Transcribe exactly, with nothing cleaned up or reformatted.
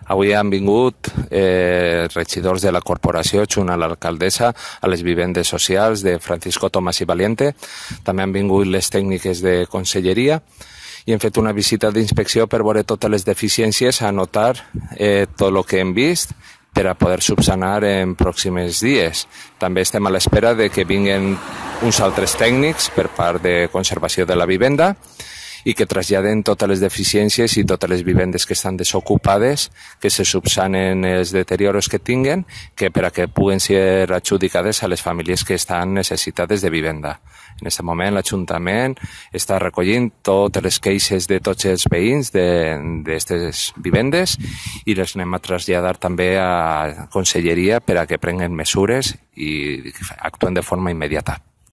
Avui han vingut eh, regidors de la corporació junt a l'alcaldessa a les vivendes socials de Francisco Tomás i Valiente. També han vingut les tècniques de conselleria i hem fet una visita d'inspecció per veure totes les deficiències, anotar eh, tot el que hem vist per a poder subsanar en pròxims dies. També estem a l'espera de que vinguin uns altres tècnics per part de conservació de la vivenda i que traslladen totes les deficiències i totes les vivendes que estan desocupades, que se subsanen els deterioros que tinguen, que per a que puguen ser adjudicades a les famílies que estan necessitades de vivenda. En aquest moment l'Ajuntament està recollint totes les queixes de tots els veïns d'aquestes vivendes i les anem a traslladar també a Conselleria per a que prenguen mesures i actuen de forma immediata.